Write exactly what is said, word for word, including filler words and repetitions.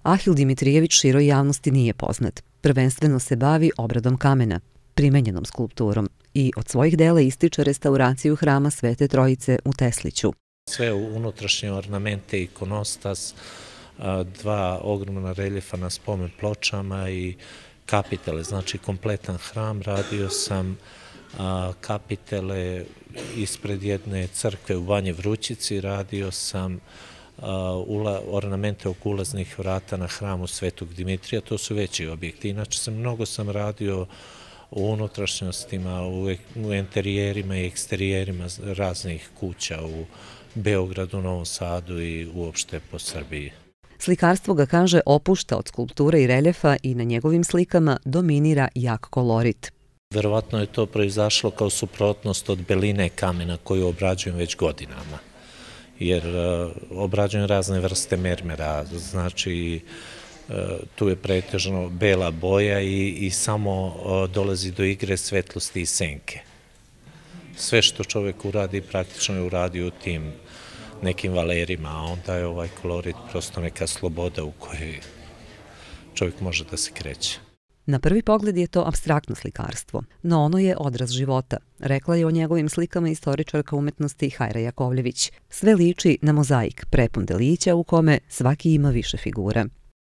Ahil Dimitrijević široj javnosti nije poznat. Prvenstveno se bavi obradom kamena, primenjenom skulpturom i od svojih dela ističe restauraciju hrama Svete Trojice u Tesliću. Sve unutrašnje ornamente, ikonostas, dva ogromna reljefa na spomen pločama i kapitele, znači kompletan hram. Radio sam kapitele ispred jedne crkve u Banji Vrućici, radio sam ornamente oko ulaznih vrata na hramu Svetog Dimitrija, to su veći objekti. Inače sam mnogo sam radio u unutrašnjostima, u interijerima i eksterijerima raznih kuća u Beogradu, Novom Sadu i uopšte po Srbiji. Slikarstvo ga, kaže, opušta od skulpture i reljefa i na njegovim slikama dominira jak kolorit. Verovatno je to proizašlo kao suprotnost od beline kamena koju obrađujem već godinama, jer obrađujem razne vrste mermera, znači tu je pretežno bela boja i, i samo dolazi do igre svetlosti i senke. Sve što čovjek uradi praktično je uradio u tim nekim valerima, a onda je ovaj kolorit prosto neka sloboda u kojoj čovjek može da se kreće. Na prvi pogled je to apstraktno slikarstvo, no ono je odraz života, rekla je o njegovim slikama istoričarka umetnosti Hajra Jakovljević. Sve liči na mozaik prepun delića u kome svaki ima više figura.